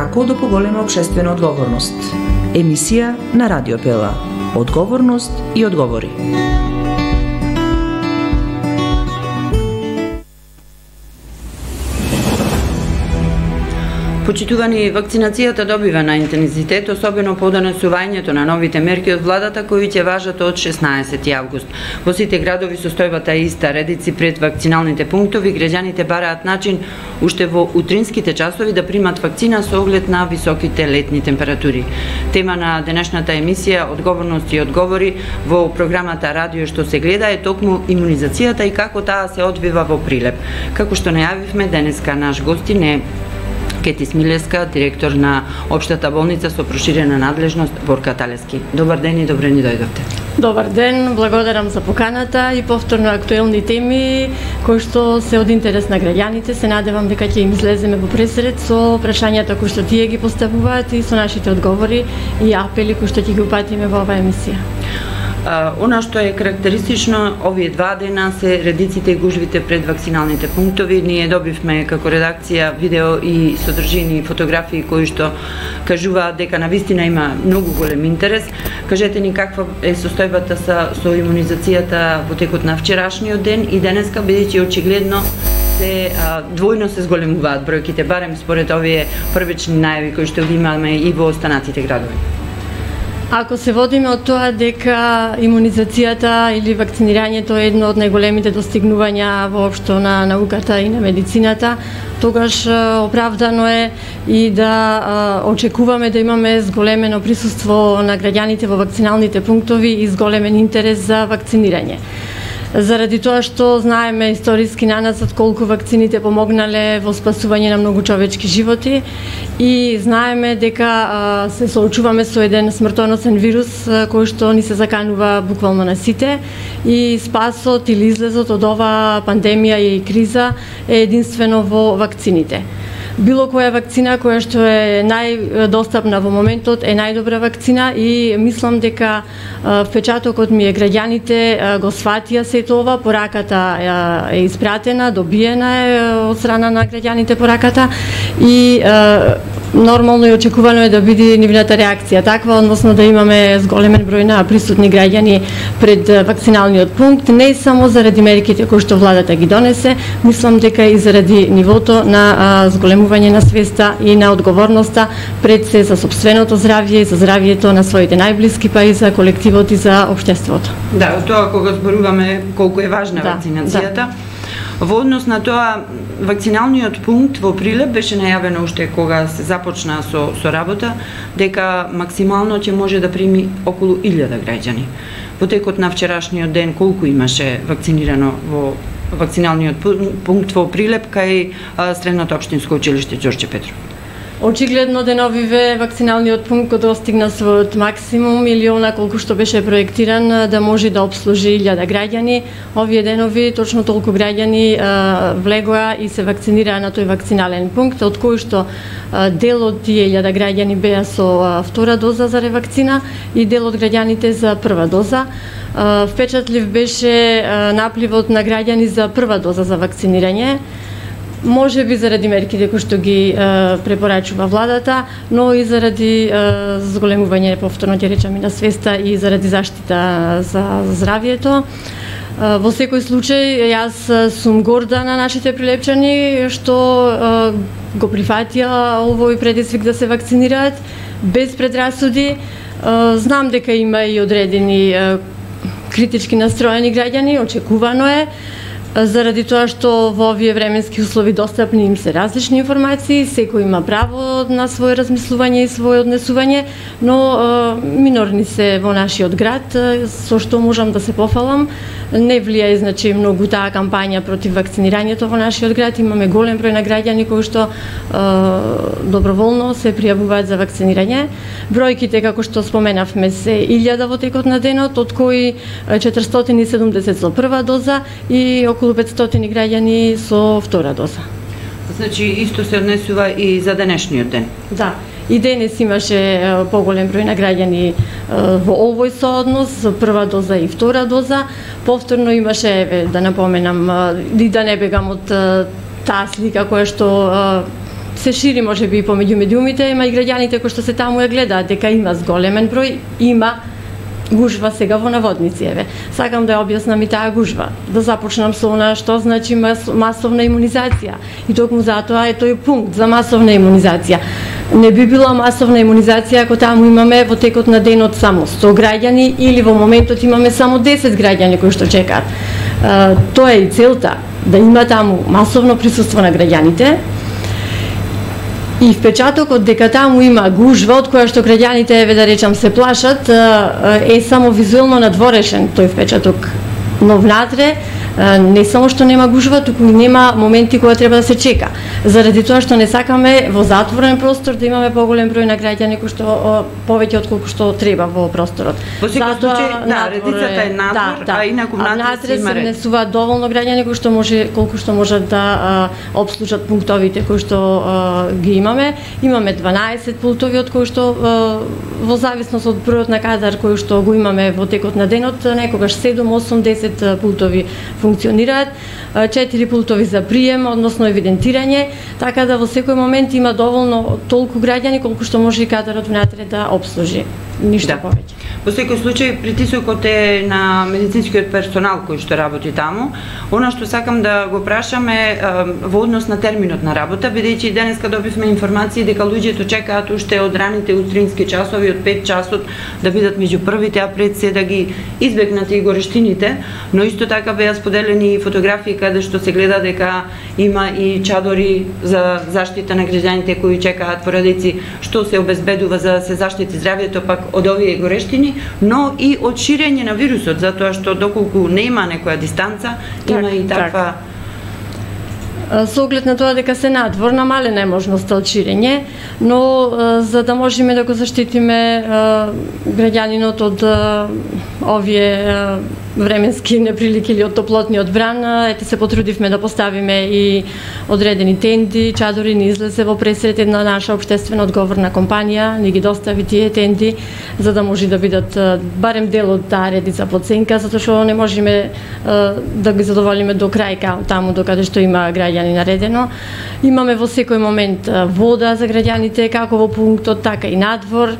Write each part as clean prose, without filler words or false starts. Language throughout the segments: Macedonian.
како да поголема општествена одговорност. Емисија на Радио Пела. Одговорност и одговори. Почитувани, вакцинацијата добива на интензитет, особено по донесувањето на новите мерки од владата кои ќе важат од 16 август. Во сите градови состојбата е иста, редици пред вакциналните пунктови, граѓаните бараат начин уште во утринските часови да примат вакцина со оглед на високите летни температури. Тема на денешната емисија Одговорност и одговори во програмата Радио што се гледа е токму имунизацијата и како таа се одвива во Прилеп. Како што најавивме, денеска наш гостин е Кети Смилевска, директор на Општата болница со проширена надлежност Борка Талески. Добар ден и добре ни дојдовте. Добар ден, благодарам за поканата и повторно актуелни теми кои што се од интерес на граѓаните. Се надевам дека ќе им излеземе во пресред со прашањата кои што тие ги поставуваат и со нашите одговори и апели кои што ќе ги упатиме во оваа емисија. Она што е карактеристично овие два дена се редиците и гужвите пред вакциналните пунктови. Ние добивме како редакција видео и содржини и фотографии кои што кажуваат дека навистина има многу голем интерес. Кажете ни каква е состојбата со имунизацијата во текот на вчерашниот ден и денеска, бидејќи очигледно двојно се зголемуваат бројките, барем според овие првични најави кои што ги имаме и во останатите градови. Ако се водиме од тоа дека имунизацијата или вакцинирањето е едно од најголемите достигнувања воопшто на науката и на медицината, тогаш оправдано е и да очекуваме да имаме зголемено присуство на граѓаните во вакциналните пунктови и зголемен интерес за вакцинирање. Заради тоа што знаеме историски наназад колку вакцините помогнале во спасување на многу човечки животи и знаеме дека се соочуваме со еден смртоносен вирус кој што ни се заканува буквално на сите и спасот или излезот од оваа пандемија и криза е единствено во вакцините. Било која вакцина која што е најдостапна во моментот е најдобра вакцина и мислам дека впечатокот ми е граѓаните го сватија сето ова, пораката е испратена, добиена е од страна на граѓаните пораката и нормално и очекувано е да биде нивната реакција таква, односно да имаме зголемен број на присутни граѓани пред вакциналниот пункт, не само заради мерките кои што владата ги донесе, мислам дека и заради нивото на зголемување на свеста и на одговорноста пред се за сопственото здравје и за здравјето на своите најблиски, па и за колективот и за општеството. Да, тоа кога зборуваме колку е важна вакцинацијата. Да. Во однос на тоа, вакциналниот пункт во Прилеп беше најавено уште кога се започна со работа, дека максимално ќе може да прими околу 1000 граѓани. Во текот на вчерашниот ден колку имаше вакцинирано во вакциналниот пункт во Прилеп кај Средното општинско училиште Ѓорѓе Петров? Очигледно деновиве вакциналниот пункт го достигна својот максимум или она колку што беше проектиран да може да обслужи 1000 граѓани. Овие денови точно толку граѓани влегоа и се вакцинираа на тој вакцинален пункт, од кој што дел од тие 1000 граѓани беа со втора доза за ревакцина и дел од граѓаните за прва доза. Впечатлив беше напливот на граѓани за прва доза за вакцинирање. Може би заради мерките кои што ги препорачува владата, но и заради зголемување, повторно ќе речам, и на свеста и заради заштита за здравјето. Во секој случај, јас сум горда на нашите прилепчани што го прифатија овој предизвик да се вакцинираат без предрасуди. Знам дека има и одредени критички настроени граѓани, очекувано е, заради тоа што во овие временски услови достапни им се различни информации, секој има право на своје размислување и своје однесување, но минорни се во нашиот град, со што можам да се пофалам. Не влијае значи многу таа кампања против вакцинирањето во нашиот град. Имаме голем број на граѓани кои што доброволно се пријавуваат за вакцинирање. Бројките, како што споменавме, се 1000 во текот на денот, од кои 470 со прва доза и околу 500 граѓани со втора доза. Значи, исто се однесува и за денешниот ден? Да. И денес имаше поголем број на граѓани во овој сооднос, за прва доза и втора доза. Повторно имаше, да напоменам, и да не бегам од таа слика која што се шири можеби и помеѓу медиумите, има и граѓаните кои што се таму ја гледаат дека има зголемен број, има гужва сега во наводници, еве. Сакам да ја објаснам и таа гужва. Да започнам со она што значи масовна имунизација. И токму затоа е тој пункт за масовна имунизација. Не би била масовна имунизација ако таму имаме во текот на денот само 100 граѓани или во моментот имаме само 10 граѓани кои што чекаат. Тоа е и целта, да има таму масовно присуство на граѓаните. И впечатокот дека таму има гужва од која што граѓаните, еве да речам, се плашат, е само визуелно надворешен тој впечаток. Но внатре не само што нема гужва, туку и нема моменти кога треба да се чека. Заради тоа што не сакаме во затворен простор да имаме поголем број на граѓани кои што повеќе од колку што треба во просторот. Во секој случај, да, редицата е надвор, а инаку внатре се внесуваат доволно граѓани кои што колку што можат да обслужат пунктовите кои што ги имаме. Имаме 12 пултови од кои што во зависност од бројот на кадар кој што го имаме во текот на денот, некогаш 7, 8, 10 пултови функционираат, 4 пултови за прием, односно евидентирање, така да во секој момент има доволно толку граѓани колку што може и кадарот внатре да обслужи. Ништо повеќе. Во секој случај притисокот е на медицинскиот персонал кој што работи таму. Она што сакам да го прашам е во однос на терминот на работа, бидејќи денеска добивме информации дека луѓето чекаат уште од раните утрински часови, од 5 часот да бидат меѓу првите, а пред се да ги избегнат и горештините, но исто така беа споделени фотографии каде што се гледа дека има и чадори за заштита на граѓаните кои чекаат порадици, што се обезбедува за да се заштити здравјето пак од овие горештини, но и од ширење на вирусот, затоа што доколку нема некоја дистанца, има и таква... Со оглед на тоа дека се надвор, намалена е можноста од ширење, но за да можеме да го заштитиме граѓанинот од овие временски неприлики или од топлотниот бран, ете се потрудивме да поставиме и одредени тенди, чадори, ни излезе во пресрет една наша општествена одговорна компанија, ни ги достави тие тенди за да може да бидат барем дел од таа редица под сенка, затоа што не можеме да ги задоволиме до крај таму докаде што има граѓани наредено. Имаме во секој момент вода за граѓаните, како во пунктот, така и надвор.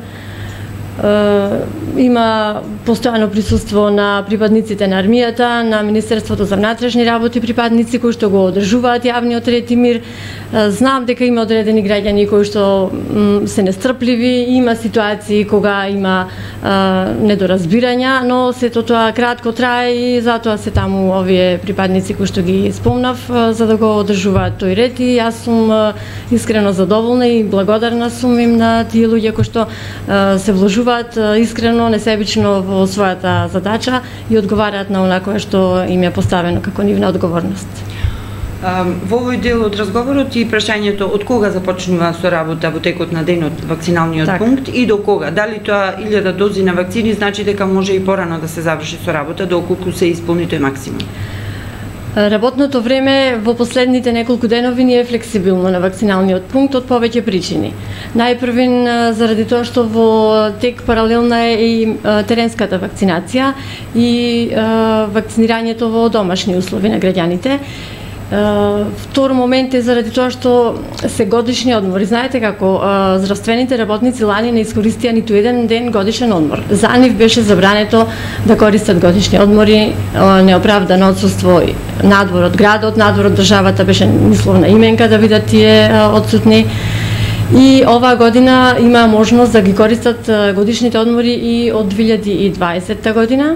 Има постојано присуство на припадниците на армијата, на Министерството за внатрешни работи, припадници кои што го одржуваат јавниот ред и мир. Знам дека има одредени граѓани кои што се нестрпливи, има ситуации кога има недоразбирања, но сето тоа кратко трае и затоа се таму овие припадници кои што ги спомнав за да го одржуваат тој ред и јас сум искрено задоволна и благодарна сум им на тие луѓе кои што се вложуваат искрено, несебично во својата задача и одговараат на она кое што им е поставено како нивна одговорност. Во овој дел од разговорот и прашањето од кога започнува со работа во текот на денот вакциналниот пункт и до кога? Дали тоа 1000 дози на вакцини значи дека може и порано да се заврши со работа доколку се исполни тој максимум? Работното време во последните неколку денови ни е флексибилно на вакциналниот пункт од повеќе причини. Најпрвен заради тоа што во тек паралелна е и теренската вакцинација и вакцинирањето во домашни услови на граѓаните. Втор момент е заради тоа што се годишни одмори. Знаете како здравствените работници лани не искористија ниту еден ден годишен одмор. За нив беше забрането да користат годишни одмори, неоправдано отсуство надвор од градот, надвор од државата беше мисловна именка да бидат тие отсутни. И оваа година има можност да ги користат годишните одмори и од 2020 година.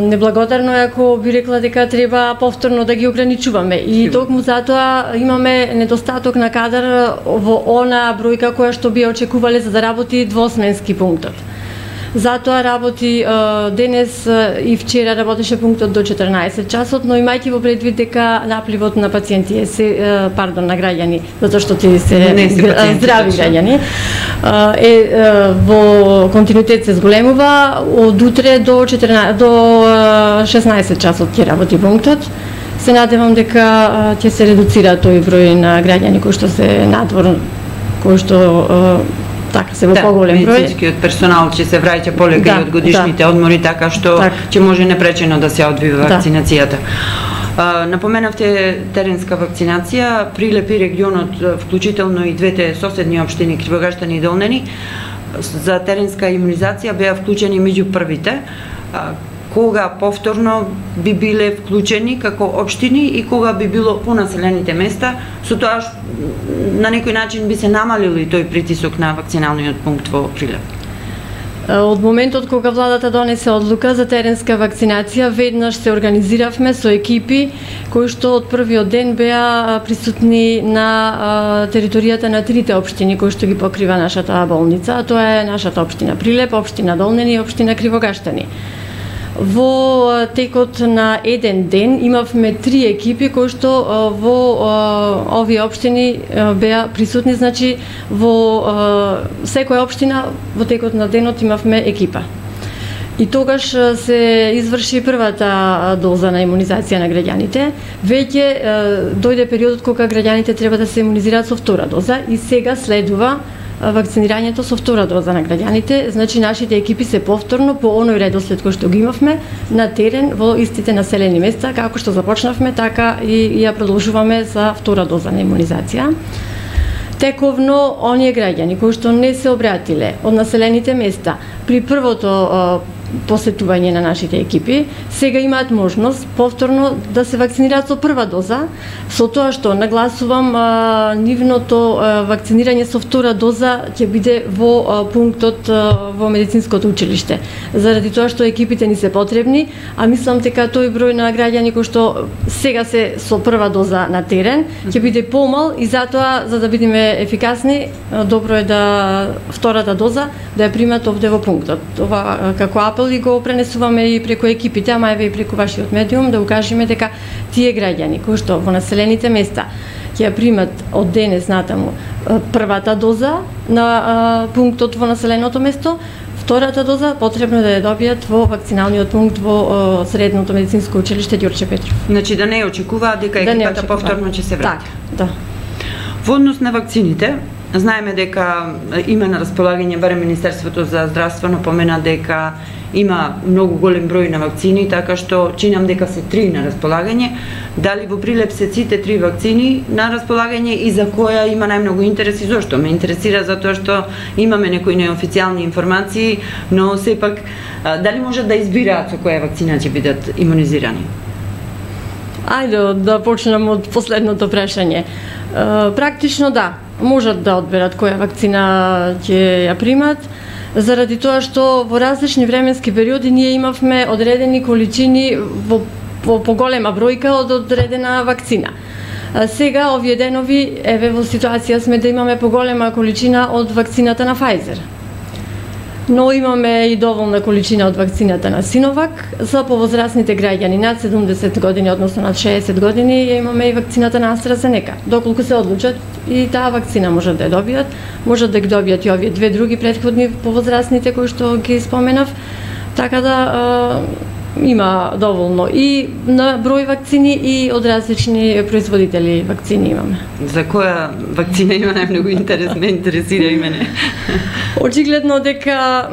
Неблагодарно е ако би рекла дека треба повторно да ги ограничуваме и токму затоа имаме недостаток на кадар во она бројка која што би очекувале за да работи двосменски пунктот. Затоа работи денес и вчера работеше пунктот до 14 часот, но имајќи во предвид дека напливот на пациенти на граѓани, затоа што тие се здрави граѓани, во континуитет се зголемува, од утре до 16 часот ќе работи пунктот. Се надевам дека ќе се редуцира тој број на граѓани кои што се надвор, кои што така се во поголем број. Медицинскиот персонал ќе се враќа полека и од годишните одмори, така што ќе може непречено да се одвива вакцинацијата. Напоменавте теренска вакцинација, Прилеп и регионот, вклучително и двете соседни општини Кривогаштани и Долнени, за теренска имунизација беа вклучени меѓу првите. Кога повторно би биле вклучени како општини и кога би било по населените места, со тоа на некој начин би се намалил и тој притисок на вакциналниот пункт во Прилеп? Од моментот кога владата донесе одлука за теренска вакцинација, веднаш се организиравме со екипи кои што од првиот ден беа присутни на територијата на трите општини кои што ги покрива нашата болница, а тоа е нашата општина Прилеп, општина Долнени и општина Кривогаштани. Во текот на еден ден имавме 3 екипи кои што во овие општини беа присутни, значи во секоја општина во текот на денот имавме екипа. И тогаш се изврши првата доза на имунизација на граѓаните. Веќе дојде периодот кога граѓаните треба да се имунизираат со втора доза и сега следува вакцинирањето со втора доза на граѓаните, значи нашите екипи се повторно по оној редослед кој што ги имавме на терен во истите населени места, како што започнавме, така и ја продолжуваме за втора доза на имунизација. Тековно, оние граѓани кои што не се обратиле од населените места при првото посетување на нашите екипи, сега имаат можност повторно да се вакцинираат со прва доза, со тоа што нагласувам нивното вакцинирање со втора доза ќе биде во пунктот во медицинското училиште. Заради тоа што екипите ни се потребни, а мислам дека тој број на граѓани кои што сега се со прва доза на терен ќе биде помал и затоа, за да бидеме ефикасни, добро е да втората доза да ја примат овде во пунктот. Ова како апел и го пренесуваме и преку екипите, ама еве и преку вашиот медиум, да укажеме дека тие граѓани кои што во населените места ќе ја примат од денес натаму првата доза на пунктот во населеното место, втората доза потребно да ја добијат во вакциналниот пункт во Средното медицинско училиште Ѓурче Петров. Значи да не очекуваат дека екипата повторно ќе се врати. Да. Во однос на вакцините, знаеме дека има на располагање, барем Министерството за здравство напомена дека има многу голем број на вакцини, така што чинам дека се 3 на располагање. Дали во Прилеп се сите 3 вакцини на располагање и за која има најмногу интерес и зошто? Ме интересира затоа што имаме некои неофицијални информации, но сепак дали можат да избираат со која вакцина ќе бидат имунизирани? Ајде да почнем од последното прашање. Практично да, можат да одберат која вакцина ќе ја примат, заради тоа што во различни временски периоди ние имавме одредени количини во поголема бројка од одредена вакцина. Сега овие денови еве во ситуација сме да имаме поголема количина од вакцината на Pfizer. Но имаме и доволна количина од вакцината на Синовак. За повозрастните граѓани над 70 години, односно над 60 години, имаме и вакцината на AstraZeneca. Доколку се одлучат и таа вакцина можат да ја добијат, можат да ги добијат и овие две други претходни повозрастните кои што ги споменав. Така да има доволно и на број вакцини и од различни производители вакцини имаме. За која вакцина има најмногу интерес? Ме интересира и мене. Очигледно дека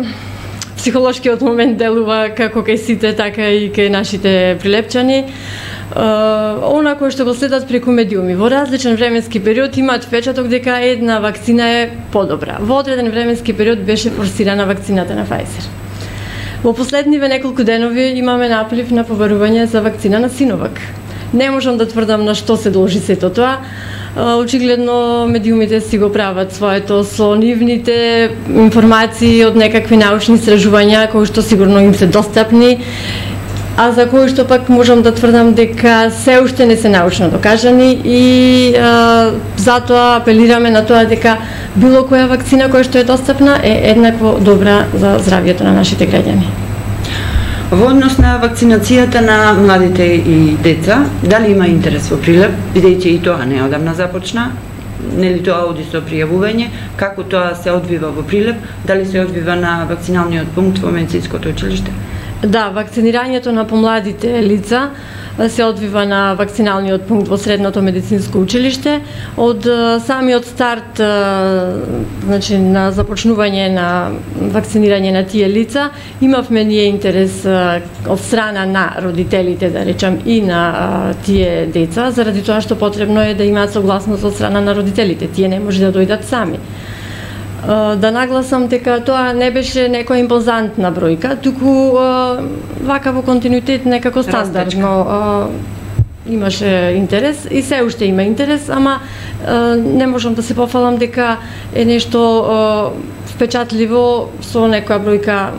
психолошкиот момент делува како кај сите, така и кај нашите прилепчани. Она кој што го следат преку медиуми во различен временски период имаат впечаток дека една вакцина е подобра. Во одреден временски период беше форсирана вакцината на Pfizer. Во последниве неколку денови имаме наплив на побарување за вакцина на Синовак. Не можам да тврдам на што се должи сето тоа. Очигледно медиумите си го прават своето со нивните информации од некакви научни истражувања кои што сигурно им се достапни, а за кои што пак можам да тврдам дека се уште не се научно докажани и затоа апелираме на тоа дека било која вакцина која што е достапна е еднакво добра за здравјето на нашите граѓани. Во однос на вакцинацијата на младите и деца, дали има интерес во Прилеп, бидејќи и тоа неодамна започна, нели тоа оди со пријавување, како тоа се одвива во Прилеп, дали се одвива на вакциналниот пункт во медицинското училиште? Да, вакцинирањето на помладите лица се одвива на вакциналниот пункт во Средното медицинско училиште. Од самиот старт, значи на започнување на вакцинирање на тие лица, имавме ние интерес од страна на родителите, да речам, и на тие деца, заради тоа што потребно е да имаат согласност од страна на родителите. Тие не може да дојдат сами. Да нагласам дека тоа не беше некоја импозантна бројка, туку вака во континуитет некако стандардно имаше интерес и се уште има интерес, ама не можам да се пофалам дека е нешто впечатливо со некоја бројка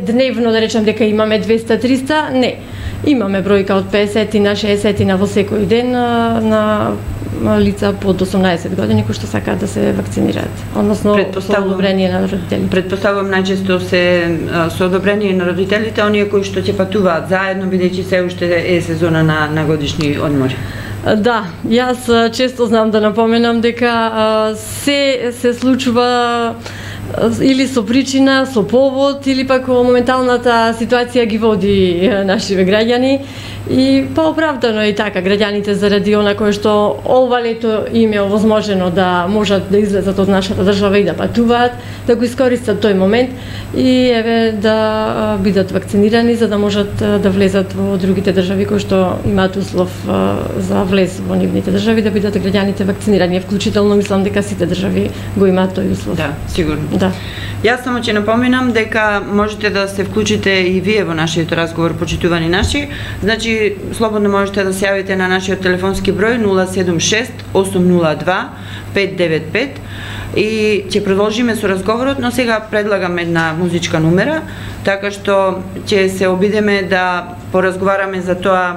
дневно, да речем дека имаме 200-300, не. Имаме бројка од 50 на 60 на во секој ден на лица под 18 години кои што сакаат да се вакцинираат, односно со одобрение на родителите. Предпоставувам најчесто се со одобрение на родителите, оние кои што ќе патуваат заедно, бидејќи се уште е сезона на годишни одмори. Да, јас често знам да напоменам дека се случува или со причина, со повод, или пак во моменталната ситуација ги води нашиве граѓани. И оправдано е и така, граѓаните заради она кое што ова лето им е овозможено да можат да излезат од нашата држава и да патуваат, да го искористат тој момент и еве да бидат вакцинирани за да можат да влезат во другите држави кои што имаат услов за влез во нивните држави, да бидат граѓаните вакцинирани. Вклучително мислам дека сите држави го имаат тој услов. Да, сигурно. Да. Јас само ќе напоминам дека можете да се вклучите и вие во нашиот разговор, почитувани наши. Значи, слободно можете да се јавите на нашиот телефонски број 076 802 595 и ќе продолжиме со разговорот, но сега предлагам една музичка номера, така што ќе се обидеме да поразговараме за тоа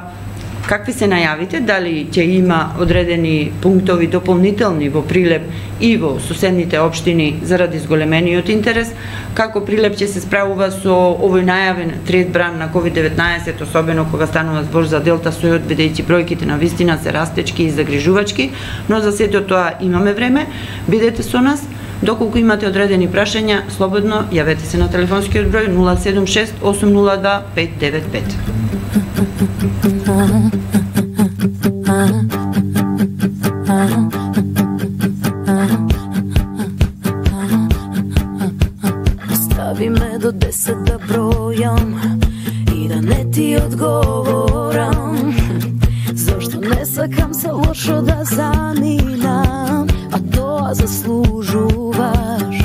какви се најавите, дали ќе има одредени пунктови дополнителни во Прилеп и во соседните општини заради зголемениот интерес, како Прилеп ќе се справува со овој најавен трет бран на COVID-19, особено кога станува збор за Делта сојот, бидејќи бројките на вистина се растечки и загрижувачки, но за сето тоа имаме време. Бидете со нас. Доколку имате одредени прашања, слободно јавете се на телефонскиот број 076 802 595. Остави ме до 10 да бројам и да не ти одговорам. Зошто не сакам се лошо да заминам, а тоа заслужуваш.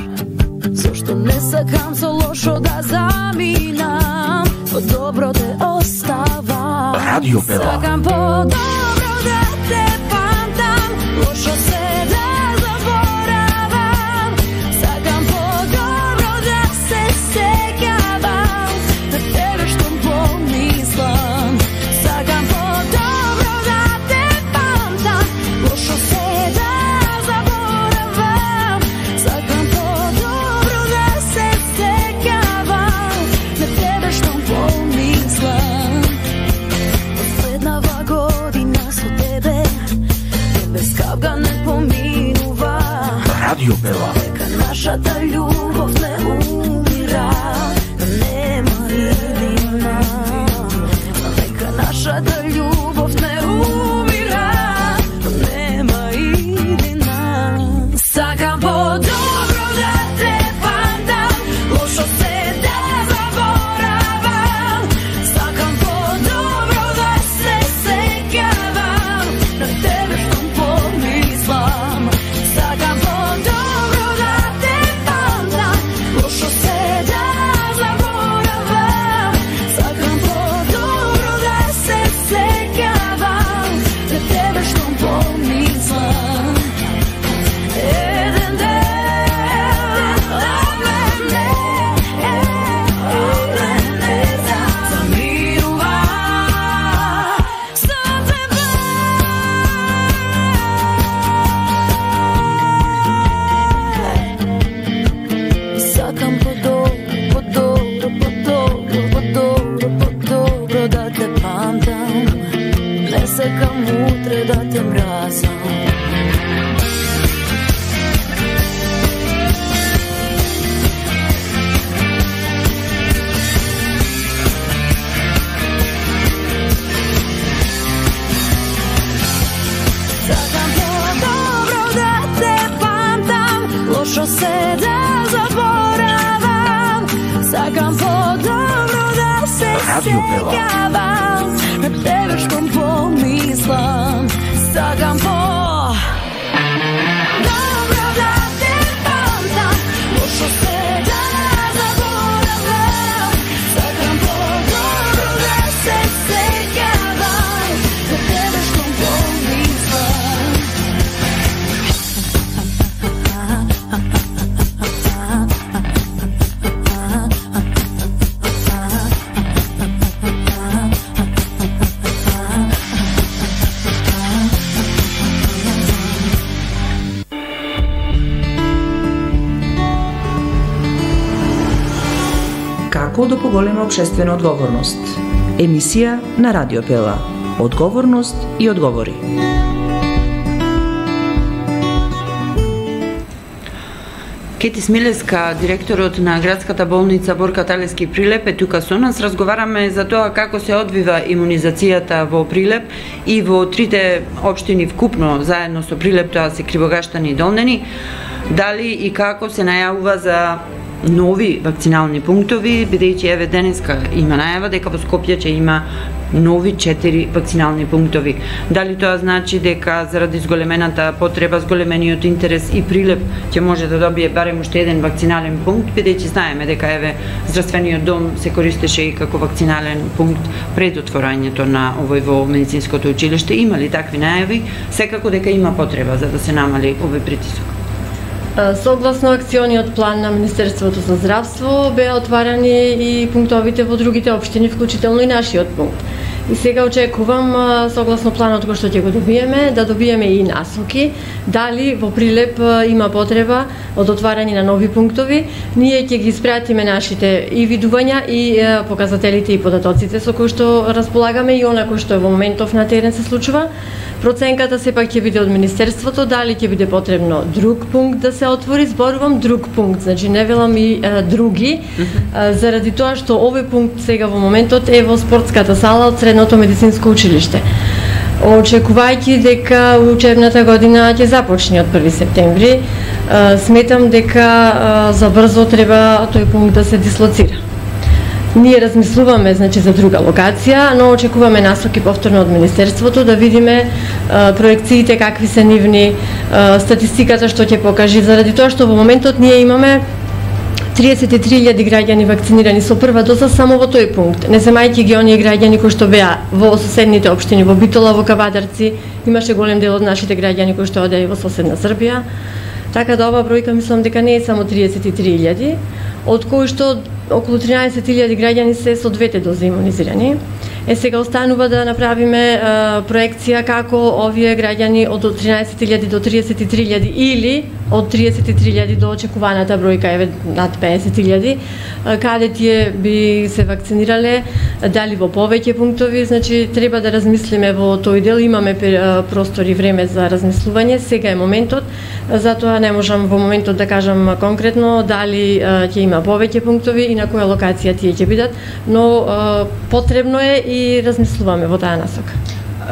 Зошто не сакам се лошо да заминам, по-добро те остава. Радио Пела. Сакам по-добро да те памтам, лошо се да заборавам. Сакам по-добро да се сеќавам на тебе што помислам. Сакам по-добро да те памтам, лошо се да заборавам. Сакам по-добро да се сеќавам на тебе што помислам. Последнава година со тебе без капка не поминува. Радио Пела. Дека нашата љубов не умира, нема иднина. Дека нашата љубов не умира, нема иднина. Сакам по-добро да те памтам, лошо се да заборавам. Сакам по-добро да се сеќавам на тебе што помислам. Сакам по-добро да те памтам, лошо се да заборавам. Сакам по-добро да се сеќавам на тебе што помислам. Еден ден замирува со тебе. Сакам по-добро да те памтам, не сакам утре да те мразам. Сакам по-добро да те памтам, лошо се да заборавам. Сакам по-добро да се сеќавам, на тебе што помислам. Сакам по-добро да те памтам, лошо се да заборавам. Сакам по-добро да се сеќавам, на тебе што помислам. Како да поголема општествена одговорност. Емисија на Радио Пела. Одговорност и одговори. Кети Смилеска, директорот на градската болница Борка Талевски Прилеп е тука со нас. Разговараме за тоа како се одвива имунизацијата во Прилеп и во трите општини вкупно, заедно со Прилеп, тоа се Кривогаштани и Долнени. Дали и како се најавува за нови вакцинални пунктови, бидејќи еве денеска има најава дека во Скопје ќе има нови 4 вакцинални пунктови. Дали тоа значи дека заради зголемената потреба, зголемениот интерес и Прилеп ќе може да добие барем уште еден вакцинален пункт, бидејќи знаеме дека еве здравствениот дом се користеше и како вакцинален пункт пред отворањето на овој во медицинското училиште. Има ли такви најави? Секако дека има потреба за да се намали овој притисок. Согласно акциониот план на Министерството за здравство беа отварани и пунктовите во другите општини, вклучително и нашиот пункт. И сега очекувам, согласно планот кој што ќе го добиеме, да добиеме и насоки, дали во Прилеп има потреба од отварање на нови пунктови. Ние ќе ги испратиме нашите и видувања и показателите и податоците со кои што располагаме и она кој што во моментов на терен се случува. Проценката сепак ќе биде од Министерството, дали ќе биде потребно друг пункт да се отвори, зборувам друг пункт, значи не велам и други, заради тоа што овој пункт сега во моментот е во спортската сала од Средното медицинско училиште. Очекувајќи дека учебната година ќе започне од 1 септември, сметам дека за брзо треба тој пункт да се дислоцира. Ние размислуваме, значи, за друга локација, но очекуваме насоки повторно од Министерството да видиме проекциите какви се нивни, статистиката што ќе покажи, заради тоа што во моментот ние имаме 33.000 граѓани вакцинирани со прва доза само во тој пункт. Не земајќи ги оние граѓани кои што беа во соседните општини, во Битола, во Кавадарци, имаше голем дел од нашите граѓани кои што одеа во соседна Србија. Така да оваа бројка мислам дека не е само 33.000, од кои што околу 13.000 граѓани се со двете дози имунизирани. Сега останува да направиме проекција како овие граѓани од 13.000 до 33.000 или од 33.000 до очекуваната бројка еве над 50.000, каде тие би се вакцинирале, дали во повеќе пунктови, значи треба да размислиме во тој дел, имаме простор и време за размислување, сега е моментот, затоа не можам во моментот да кажам конкретно дали ќе има повеќе пунктови и на која локација тие ќе бидат, но потребно е и размислуваме во таа насока.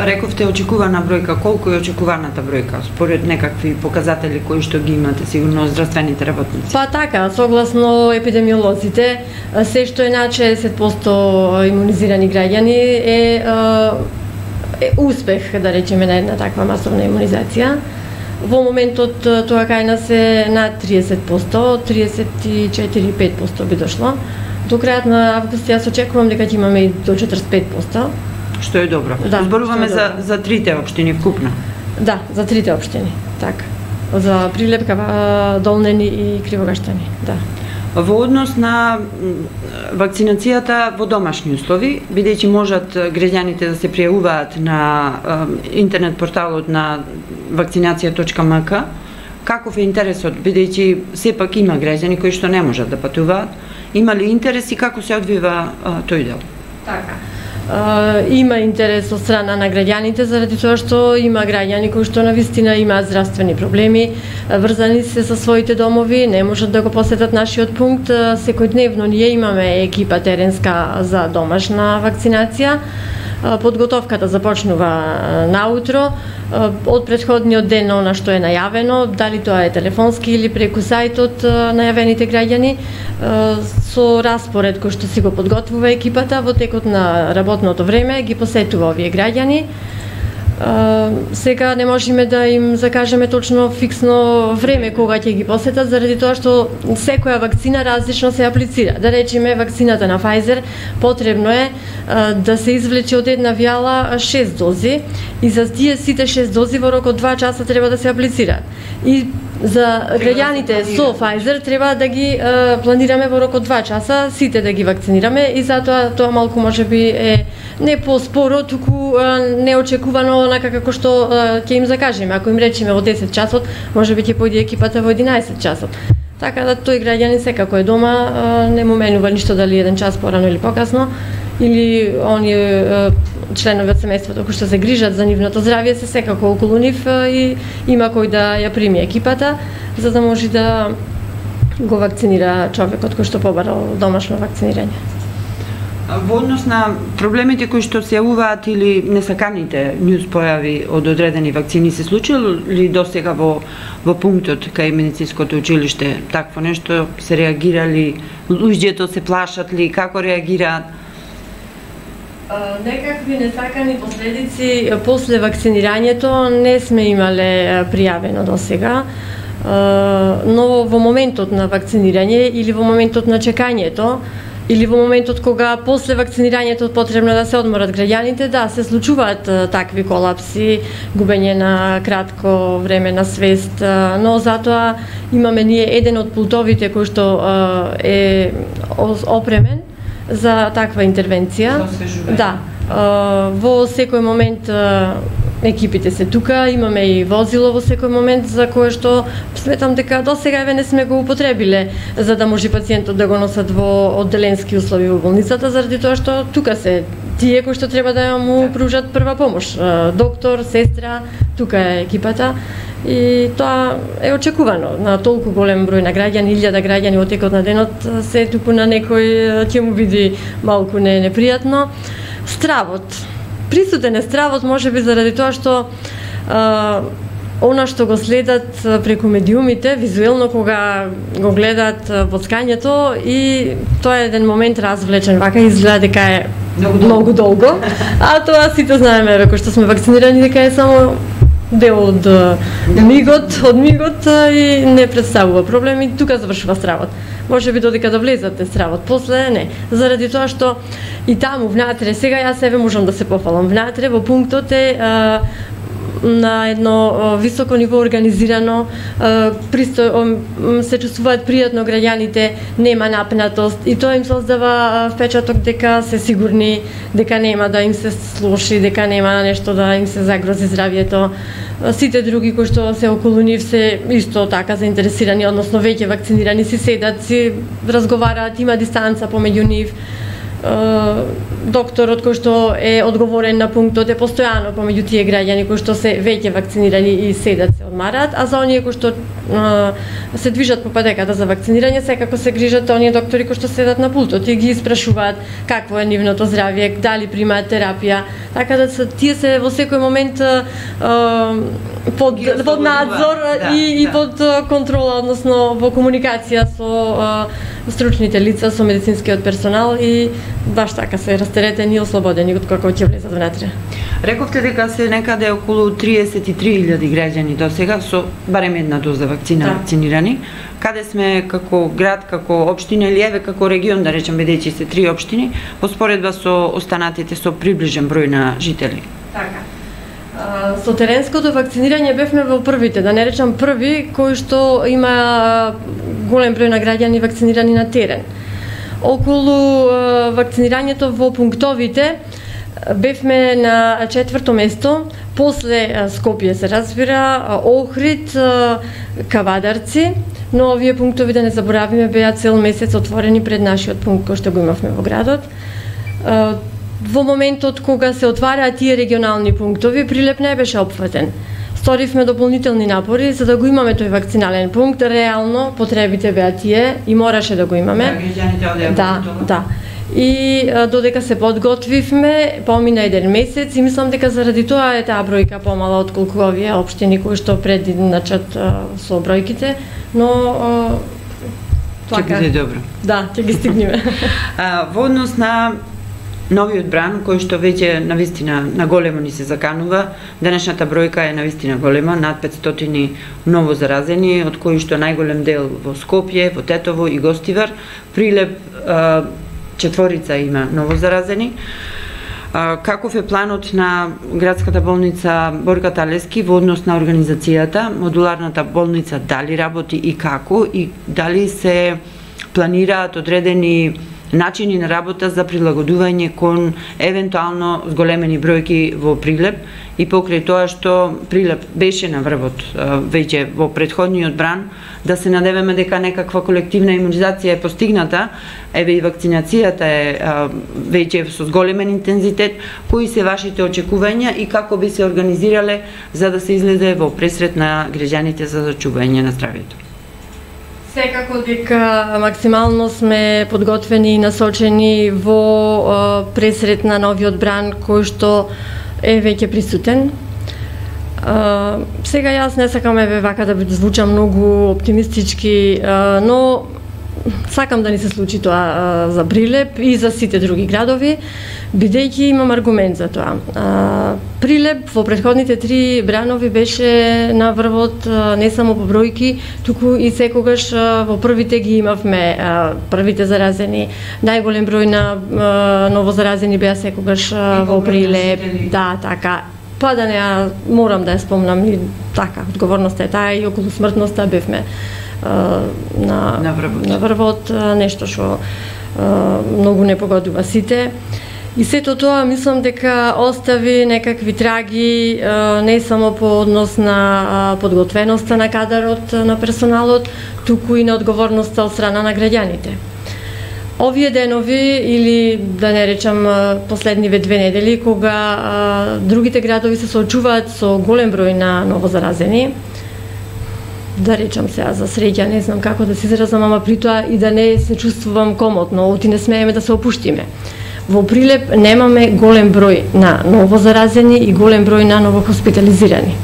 Рековте очекувана бројка, колку е очекуваната бројка според некакви показатели кои што ги имате сигурно здравствените работници? Па така, согласно епидемиолозите, се што е над 60% имунизирани граѓани е успех, да речеме, на една таква масовна имунизација. Во моментот тоа кај нас е над 30%, 34-5% би дошло. До крајот на август јас очекувам дека ќе имаме и до 45%. Што е добро. Да, зборуваме за трите општини вкупно. Да, за трите општини, така. За Прилеп, Долнени и Кривогаштани, да. Во однос на вакцинацијата во домашни услови, бидејќи можат граѓаните да се пријавуваат на интернет порталот на вакцинација.мк, каков е интересот, бидејќи сепак има граѓани кои што не можат да патуваат, има ли интерес и како се одвива тој дел? Така. Има интерес од страна на граѓаните заради тоа што има граѓани кои што навистина имаат здравствени проблеми, врзани се со своите домови, не можат да го посетат нашиот пункт. Секојдневно ние имаме екипа теренска за домашна вакцинација. Подготовката започнува наутро, од претходниот ден она што е најавено, дали тоа е телефонски или преку сајтот најавените граѓани, со распоред кој што си го подготвува екипата во текот на работното време ги посетува овие граѓани. Сега не можеме да им закажеме точно фиксно време кога ќе ги посетат, заради тоа што секоја вакцина различно се аплицира. Да речеме, вакцината на Pfizer потребно е да се извлече од една вијала 6 дози и за тие сите 6 дози во рок од 2 часа треба да се аплицираат. И за граѓаните со Pfizer треба да ги планираме во рок од 2 часа сите да ги вакцинираме и затоа тоа малку можеби е не поспоро, туку неочекувано онака како што ќе им закажеме. Ако им речеме во 10 часот, можеби ќе појде екипата во 11 часот. Така да тој граѓанин секако е дома, не му менува ништо дали 1 час порано или покасно, или оние членови од семејството кои што се грижат за нивното здравје се секако околу нив и има кој да ја прими екипата, за да може да го вакцинира човекот кој што побарал домашно вакцинирање. Во однос на проблемите кои што се јавуваат или несаканите њуз појави од одредени вакцини, се случило ли досега во пунктот кај медицинското училиште такво нешто? Се реагирали? Луѓето се плашат ли? Како реагираат? Некакви несакани последици после вакцинирањето не сме имале пријавено досега, но во моментот на вакцинирање или во моментот на чекањето или во моментот кога после вакцинирањето потребно да се одморат граѓаните, да, се случуваат такви колапси, губење на кратко време на свест, но затоа имаме ние еден од пултовите кој што е опремен за таква интервенција. Да, во секој момент екипите се тука, имаме и возило во секој момент за кое што сметам дека досега не сме го употребиле за да може пациентот да го носат во одделенски услови во болницата, заради тоа што тука се тие кои што треба да му пружат прва помош, доктор, сестра, тука е екипата. И тоа е очекувано на толку голем број на граѓани, 1000 граѓани во текот на денот, се туку на некој ќе му биде малку непријатно. Стравот. Присутен е стравот можеби заради тоа што она што го следат преку медиумите, визуелно кога го гледаат воцкањето и тоа е еден момент развлечен, вака изгледа дека е многу долго, а тоа сите знаеме, кои што сме вакцинирани, дека е само дел од мигот и не представува проблем и тука завршува стравот. Може би додека да влезате стравот, после не. Заради тоа што и таму внатре, сега јас себе можам да се пофалам, внатре во пунктот е на едно високо ниво организирано, се чувствуваат пријатно граѓаните, нема напнатост и тоа им создава впечаток дека се сигурни, дека нема да им се слоши, дека нема нешто да им се загрози здравјето. Сите други кои што се околу нив се исто така заинтересирани, односно веќе вакцинирани, си седат, си разговараат, има дистанца помеѓу нив. Докторот кој што е одговорен на пунктот е постојано помеѓу тие граѓани кои што се веќе вакцинирани и седат се одмараат, а за оние кои што се движат по патеката за вакцинирање, секако се грижат оние доктори кои што седат на пултот и ги испрашуваат какво е нивното здравје, дали примаат терапија, така да тие се во секој момент под надзор и под контрола, односно во комуникација со стручните лица, со медицинскиот персонал и баш така се растеретени и ослободени од како ќе влезат внатре. Рековте дека се некаде околу 33.000 граѓани досега со барем една доза вакцина вакцинирани. Каде сме како град, како општина или еве како регион, да речем, бидејќи се 3 општини, во споредба со останатите со приближен број на жители? Така. Со теренското вакцинирање бевме во првите, да не речам први, кои што има голем број на граѓани вакцинирани на терен. Околу вакцинирањето во пунктовите бевме на 4-то место, после Скопје се разбира, Охрид, Кавадарци, но овие пунктови, да не заборавиме, беа цел месец отворени пред нашиот пункт кој што го имавме во градот. Во моментот кога се отвараат тие регионални пунктови, Прилеп не беше опфатен. Сторивме дополнителни напори за да го имаме тој вакцинален пункт. Реално потребите беа тие и мораше да го имаме. Да. И додека се подготвивме, помина еден месец и мислам дека заради тоа е таа бројка помала отколку овие општини кои што прединачат со бројките, но ќе биде добро. Да, ќе ги стигнеме. Во однос на новиот бран, кој што веќе навистина на големо ни се заканува, денешната бројка е навистина голема, над 500 ново заразени, од кои што најголем дел во Скопје, во Тетово и Гостивар. Прилеп четворица има ново заразени. Каков е планот на градската болница Борка Талески во однос на организацијата? Модуларната болница дали работи и како? И дали се планираат одредени начини на работа за прилагодување кон евентуално зголемени бројки во Прилеп, и покрај тоа што Прилеп беше на врвот веќе во претходниот бран, да се надеваме дека некаква колективна имунизација е постигната, еве и вакцинацијата е веќе со зголемен интензитет. Кои се вашите очекувања и како би се организирале за да се излезе во пресрет на граѓаните за зачување на здравјето? Секако дека максимално сме подготвени и насочени во пресрет на новиот бран кој што е веќе присутен. Сега јас не сакам вака да звучам многу оптимистички, но сакам да ни се случи тоа за Прилеп и за сите други градови, бидејќи имам аргумент за тоа. Прилеп во претходните 3 бранови беше на врвот не само по бројки, туку и секогаш во првите ги имавме првите заразени. Најголем број на новозаразени беа секогаш во Прилеп. Да, така. Па да не морам да ја спомнам и така, одговорноста е таа и околу смртноста бевме на врвот, нешто што многу не погодува сите. И сето тоа мислам дека остави некакви траги не само по однос на подготвеноста на кадарот на персоналот, туку и на одговорноста од страна на граѓаните. Овие денови, или да не речам последниве 2 недели, кога другите градови се соочуваат со голем број на новозаразени, да речам сега за среќа, не знам како да се изразам, ама при тоа и да не се чувствувам комотно, оти не смееме да се опуштиме. Во Прилеп немаме голем број на новозаразени и голем број на новохоспитализирани.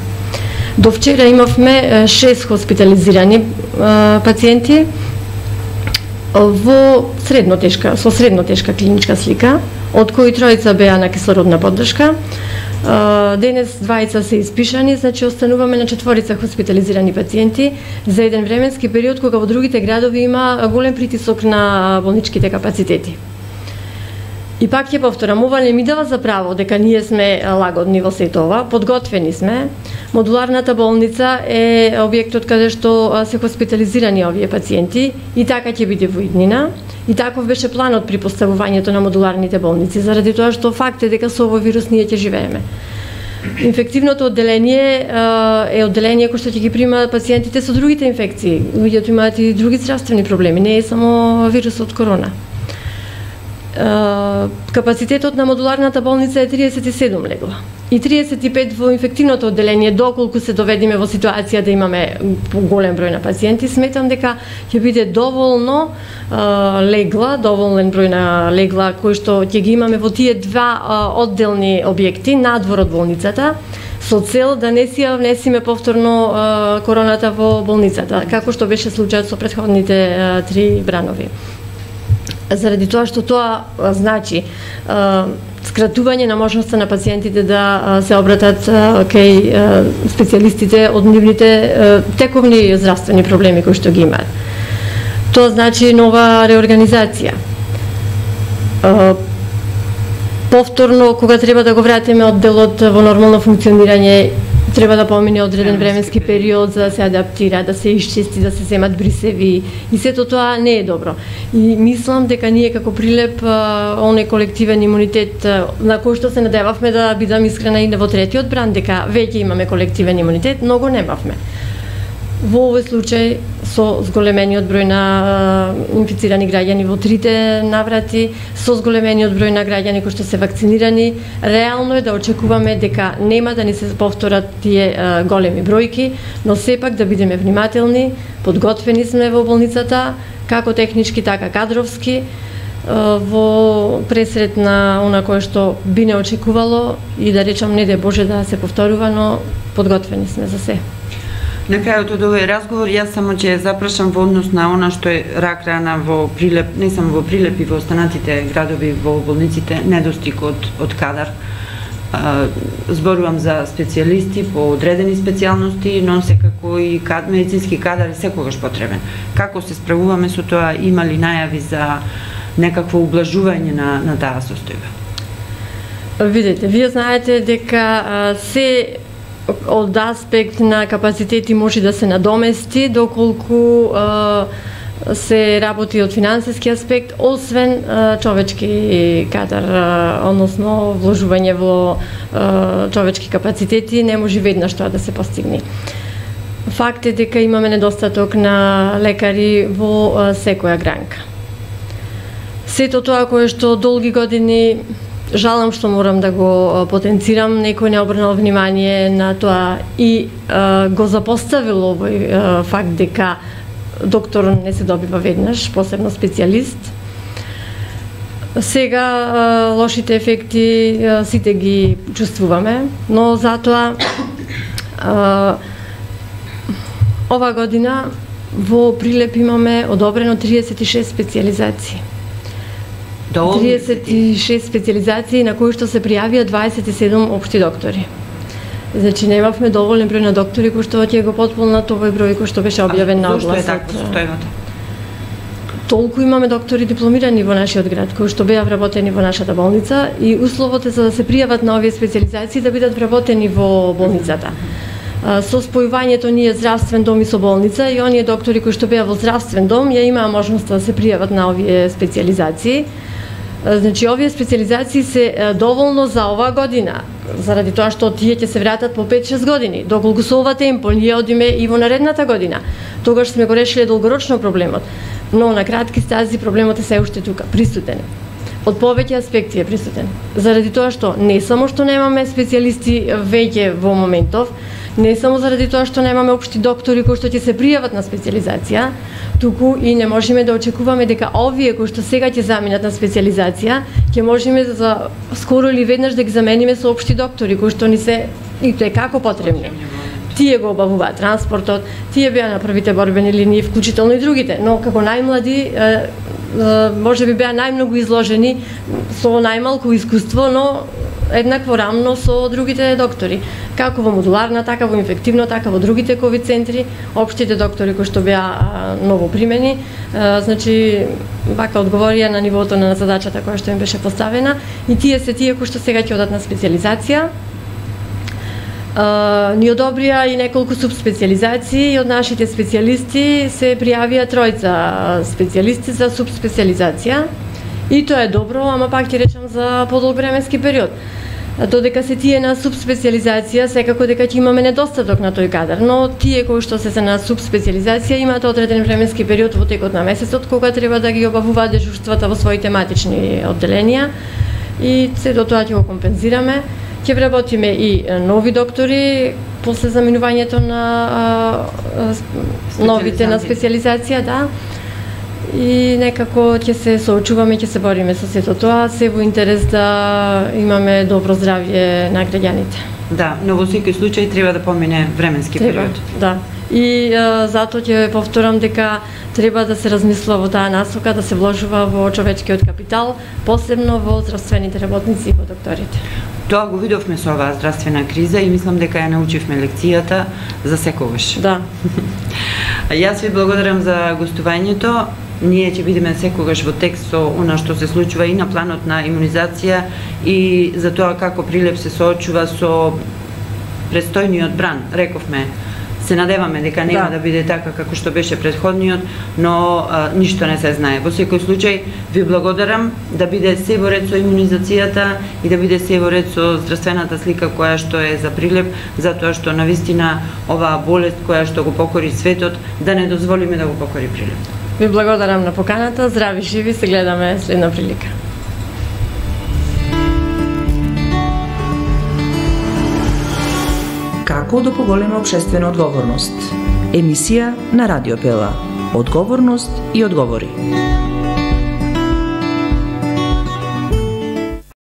До вчера имавме 6 хоспитализирани пациенти во со средно тешка клиничка слика, од кои 3 беа на кислородна поддршка. Денес 2 се испишани, значи остануваме на 4 хоспитализирани пациенти за еден временски период кога во другите градови има голем притисок на болничките капацитети. И пак ќе повторам, ова не ми дава за право дека ние сме лагодни во сето ова, подготвени сме. Модуларната болница е објектот каде што се хоспитализирани овие пациенти и така ќе биде во иднина. И таков беше планот при поставувањето на модуларните болници, заради тоа што факт е дека со овој вирус ние ќе живееме. Инфективното одделение е одделение кој што ќе ги прима пациентите со другите инфекции. Луѓето имаат и други здравствени проблеми, не е само вирусот корона. Капацитетот на модуларната болница е 37 легла и 35 во инфективното одделение. Доколку се доведеме во ситуација да имаме голем број на пациенти, сметам дека ќе биде доволно легла, доволен број на легла кои што ќе ги имаме во тие 2 одделни објекти надвор од болницата, со цел да не си ја внесиме повторно короната во болницата, како што беше случајот со претходните 3 бранови. Заради тоа што тоа значи скратување на можноста на пациентите да се обратат кај специјалистите од нивните тековни здравствени проблеми кои што ги имаат. Тоа значи нова реорганизација. Повторно, кога треба да го вратиме одделот во нормално функционирање, треба да помине одреден временски период за да се адаптира, да се исчисти, да се земат брисеви и сето тоа не е добро. И мислам дека ние како Прилеп оној колективен имунитет на кој што се надевавме, да бидам искрена и во 3-тиот бран, дека веќе имаме колективен имунитет, но го немавме. Во овој случај со зголемениот број на инфицирани граѓани во 3 наврати, со зголемениот број на граѓани кои што се вакцинирани, реално е да очекуваме дека нема да ни се повторат тие големи бројки, но сепак да бидеме внимателни, подготвени сме во болницата, како технички, така кадровски. во пресрет на она кое што би не очекувало и да речам не де Боже да се повторува, но подготвени сме за се. На крајот од овој разговор, јас само ќе запрашам во однос на она што е рак рана во Прилеп, не само во Прилеп и во останатите градови во болниците, недостиг од кадар. Зборувам за специјалисти по одредени специјалности, но секако и медицински кадар е секогаш потребен. Како се справуваме со тоа? Има ли најави за некакво ублажување на таа состојба? Видете, вие знаете дека се од аспект на капацитети може да се надомести доколку се работи од финансиски аспект, освен човечки кадар, односно вложување во човечки капацитети, не може веднаш тоа да се постигне. Факт е дека имаме недостаток на лекари во секоја гранка. Сето тоа кое што долги години, жалам што морам да го потенцирам, некој не обрнал внимание на тоа и го запоставил овој факт дека доктор не се добива веднаш, посебно специјалист. Сега лошите ефекти сите ги чувствуваме, но затоа ова година во Прилеп имаме одобрено 36 специјализации. 36 специјализации на кои што се пријавија 27 општи доктори. Значи немавме доволен број на доктори кои што ќе го потполнат овој број кој што беше објавен на огласот. Зошто е така состојбата? Толку имаме доктори дипломирани во нашиот град кои што беа вработени во нашата болница и условот е за да се пријават на овие специјализации да бидат вработени во болницата. Со спојувањето ние здравствен дом и со болница и оние доктори кои што беа во здравствен дом ја имаа можност да се пријават на овие специјализации. Значи, овие специјализации се доволно за оваа година, заради тоа што тие ќе се вратат по 5-6 години. Доколку со ова темпо ние одиме и во наредната година, тогаш сме го решиле долгорочно проблемот. Но на кратки стази проблемот е се уште тука, присутен. Од повеќе аспекти е присутен. Заради тоа што не само што немаме специјалисти веќе во моментов, не само заради тоа што немаме општи доктори кои што ќе се пријават на специјализација, туку и не можеме да очекуваме дека овие кои што сега ќе заминат на специјализација, ќе можеме за скоро или веднаш да ги замениме со општи доктори кои што ни се и тоа како потребни. Тие го обавуваат транспортот, тие беа на првите борбени линии, вклучително и другите, но како најмлади може би беа најмногу изложени со најмалку искуство, но еднакво рамно со другите доктори. Како во модуларна, така во инфективно, така во другите ковид центри, општите доктори кои што беа ново примени, значи вака одговорија на нивото на задачата која што им беше поставена и тие се тие кои што сега ќе одат на специјализација. Ни одобрија и неколку субспецијализации и од нашите специјалисти се пријавија 3 специјалисти за субспецијализација. И тоа е добро, ама пак ќе речам за подолг временски период. Додека се тие на субспецијализација, секако дека ќе имаме недостаток на тој кадар, но тие кои што се на субспецијализација имаат одреден временски период во текот на месецот кога треба да ги обавуваат дежурствата во своји тематични одделенија и се до тоа ќе го компензираме. Ќе вработиме и нови доктори после заминувањето на новите на специјализација, да. И некако ќе се соочуваме, ќе се бориме со сето тоа, се во интерес да имаме добро здравје на граѓаните. Да, но во секој случај треба да помине временски период. Да. И затоа ќе повторам дека треба да се размисла во таа насока, да се вложува во човечкиот капитал, посебно во здравствените работници и во докторите. Тоа го видовме со оваа здравствена криза и мислам дека ја научивме лекцијата за секогаш. Да. Јас ви благодарам за гостувањето. Ние ќе бидеме секогаш во текст со она што се случува и на планот на имунизација и за тоа како Прилеп се соочува со престојниот бран. Рековме, се надеваме дека нема да биде така како што беше претходниот, но ништо не се знае. Во секој случај ви благодарам да биде се во ред со имунизацијата и да биде се во ред со здравствената слика која што е за Прилеп, затоа што навистина оваа болест која што го покори светот, да не дозволиме да го покори Прилеп. Ви благодарам на поканата, здрави живи, се гледаме следна прилика. Како да поголеме општествена одговорност? Емисија на Радио Пела. Одговорност и одговори.